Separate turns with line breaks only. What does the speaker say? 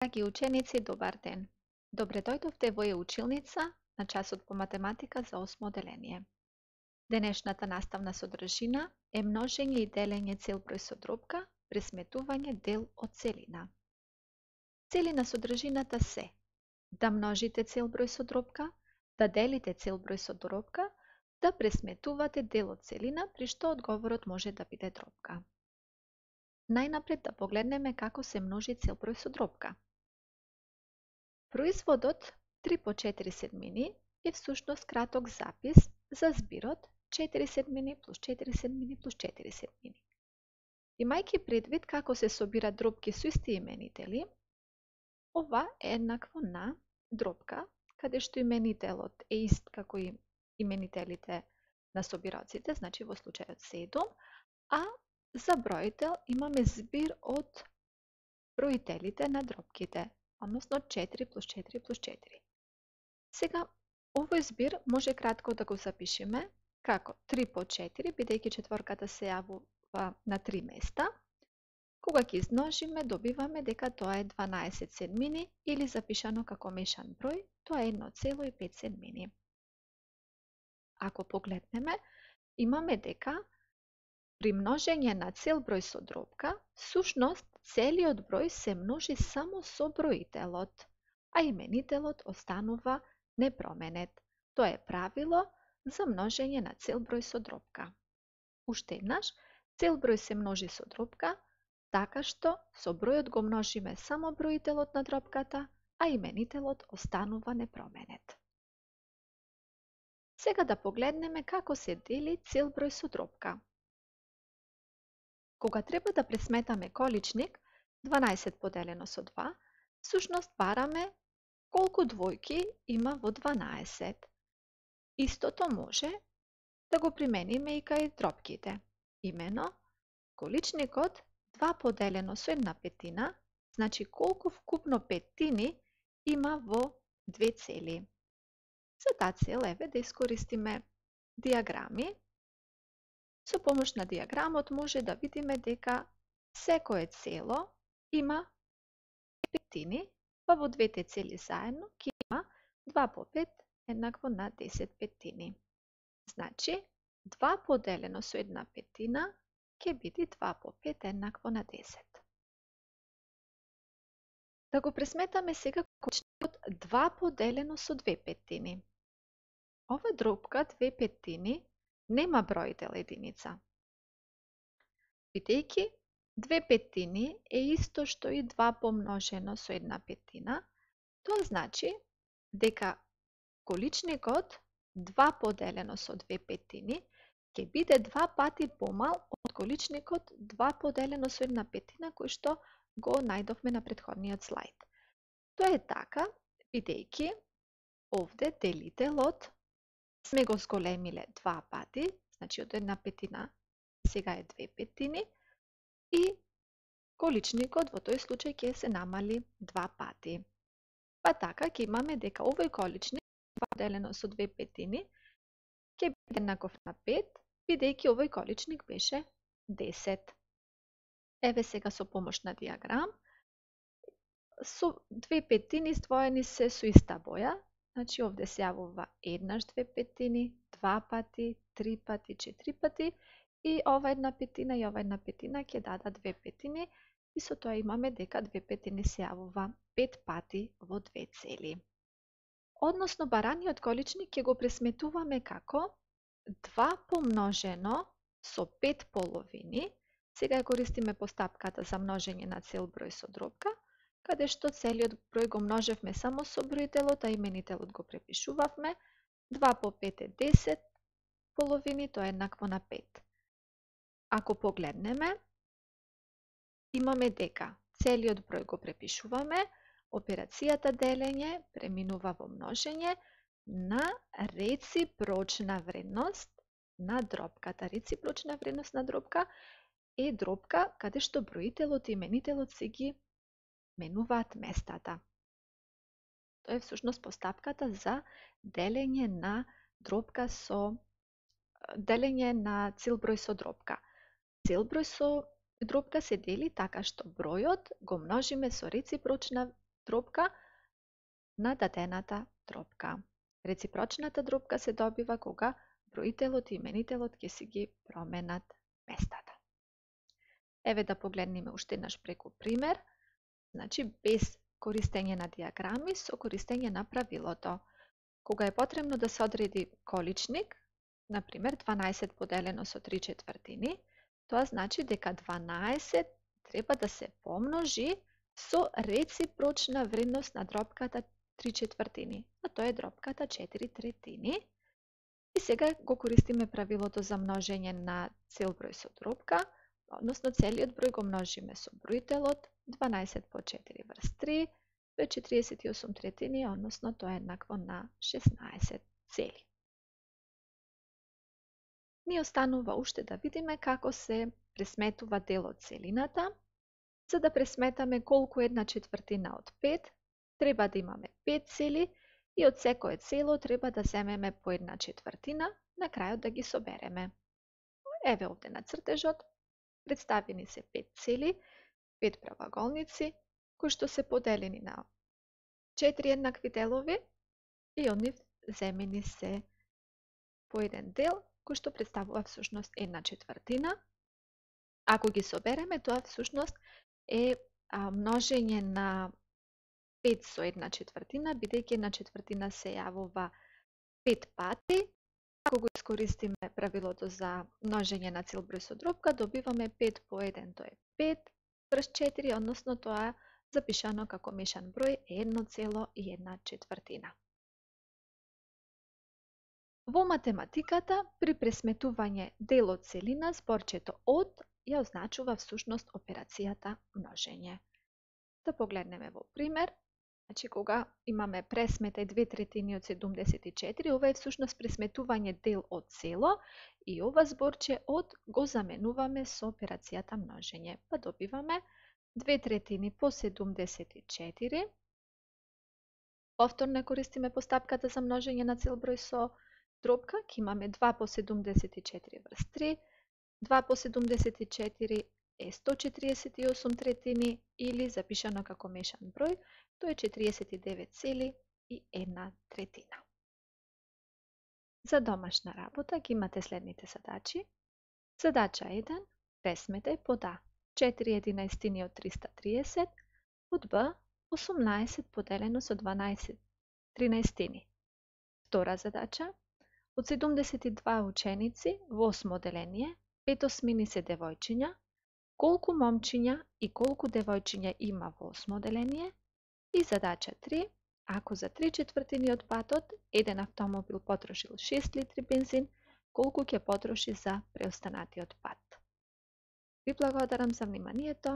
Драги ученици, добар ден! Добре дојдовте во училница на часот по математика за 8 одделение. Денешната наставна содржина е множење и делење цел број со дробка, пресметување дел од целина. Цели на содржината се да множите цел број со дробка, да делите цел број со дробка, да пресметувате дел од целина, при што одговорот може да биде дробка. Најнапред да погледнеме како се множи цел број со дробка. Производот 3 по 4 седмини е всушност краток запис за збирот 4 седмини плюс 4 седмини плюс 4 седмини. Имајќи предвид како се собираат дробки со исти именители, ова е еднакво на дробка, каде што именителот е ист како и именителите на собираоците, значи во случајот 7, а за бројител имаме збир од броителите на дробките, односно 4 плюс 4 плюс 4. Сега, овој збир може кратко да го запишеме како 3 по 4, бидејќи четворката се јавува на 3 места. Кога ќе измножиме, добиваме дека тоа е 12 седмини или запишано како мешан број, тоа е 1,5 седмини. Ако погледнеме, имаме дека при множење на цел број со дробка, всушност целиот број се множи само со броителот, а именителот останува непроменет. Тоа е правило за множење на цел број со дробка. Уште еднаш, цел број се множи со дробка, така што со бројот го множиме само броителот на дробката, а именителот останува непроменет. Сега да погледнеме како се дели цел број со дробка. Кога треба да пресметаме количник 12 поделено со 2, всушност бараме колку двојки има во 12. Истото може да го примениме и кај дробките. Имено, количникот 2 поделено со 1/5, значи колку вкупно петтини има во две цели. За таа цел, еве, да искористиме диаграми. Со помош на диаграмот може да видиме дека секое цело има петтини, па во двете цели заедно ќе има 2 по 5 еднакво на 10 петтини. Значи, 2 поделено со 1/5 ќе биде 2 по 5 еднакво на 10. Да го пресметаме сега количникот 2 поделено со 2 петтини. Ова дробка 2 петтини нема бројител единица. Бидејќи 2 петтини е исто што и 2 помножено со 1/5, тоа значи дека количникот 2 поделено со 2 петтини ќе биде 2 пати помал од количникот 2 поделено со 1/5 кој што го најдовме на претходниот слајд. Тоа е така, бидејќи овде делителот сме го зголемиле 2 пати, значи од 1/5 сега е 2 петтини, и количникот во тој случај ќе се намали 2 пати. Па така ќе имаме дека овој количник 2 поделено со 2 петтини ќе биде еднаков на 5, бидејќи овој количник беше 10. Еве сега со помош на диаграм, со 2 петтини издвоени се со иста боја, значи овде се јавува еднаш 2 петтини, 2 пати, 3 пати, 4 пати, и ова 1/5 и ова 1/5 ќе дадат 2 петтини, и со тоа имаме дека 2 петтини се јавува 5 пати во две цели. Односно, бараниот количник ќе го пресметуваме како 2 помножено со 5 половини. Сега ја користиме постапката за множење на цел број со дробка, каде што целиот број го множевме само со броителот, а именителот го препишувавме. 2 по 5 е 10 половини, тоа е еднакво на 5. Ако погледнеме, имаме дека целиот број го препишуваме, операцијата делење преминува во множење на реципрочна вредност на дробката. Реципрочна вредност на дробка е дробка каде што броителот и именителот се ги менуваат местата. Тоа е всушност постапката за делење на дробка со делење на цел број со дробка. Цел број со дробка се дели така што бројот го множиме со реципрочна дробка на дадената дробка. Реципрочната дробка се добива кога броителот и именителот ќе си ги променат местата. Еве да погледнеме уште еднаш преку пример. Значи, без користење на диаграми, со користење на правилото. Кога е потребно да се одреди количник, например 12 поделено со 3/4, тоа значи дека 12 треба да се помножи со реципрочна вредност на дробката 3/4, а тоа е дробката 4/3. И сега го користиме правилото за множење на цел број со дробка, односно целиот број го множиме со броителот, 12 по 4 врз 3, тоа е 48/3, односно тоа е еднакво на 16 цели. Ни останува уште да видиме како се пресметува дел од целината. За да пресметаме колку е 1/4 од 5, треба да имаме 5 цели и од секое цело треба да земеме по 1/4, на крајот да ги собереме. Еве овде на цртежот представени се 5 цели, 5 правоаголници, кои што се поделени на 4 еднакви делови и од нив земени се по еден дел, кој што представува всушност 1/4. Ако ги собереме, тоа всушност е множење на 5 со 1/4, бидејќи 1/4 се јавува 5 пати. Ако го искористиме правилото за множење на цел број со дробка, добиваме 5 по 1, тоа е 5 врз 4, односно тоа запишано како мешан број е 1,1/4. Во математиката, при пресметување дел од целина, зборчето од ја означува всушност операцијата множење. Да погледнеме во пример. Значи, кога имаме пресметај 2/3 од 74, ова е всушност пресметување дел од цело и ова зборче од го заменуваме со операцијата множење. Па добиваме 2/3 по 74. Повторно користиме постапката за множење на цел број со дробка. Ќе имаме 2 по 74 врз 3. 2 по 74 е 148/3 или запишано како мешан број, тоа е 49,1/3. За домашна работа ги имате следните задачи. Задача 1. Пресметај под А 4/11 од 330, под Б 18 поделено со 12/13. Втора задача. Од 72 ученици во 8 оделение, 5 осмини се девојчиња, колку момчиња и колку девојчиња има во 8 оделение? И задача 3. Ако за 3/4 од патот еден автомобил потрошил 6 литри бензин, колку ќе потроши за преостанатиот пат? Ви благодарам за вниманието.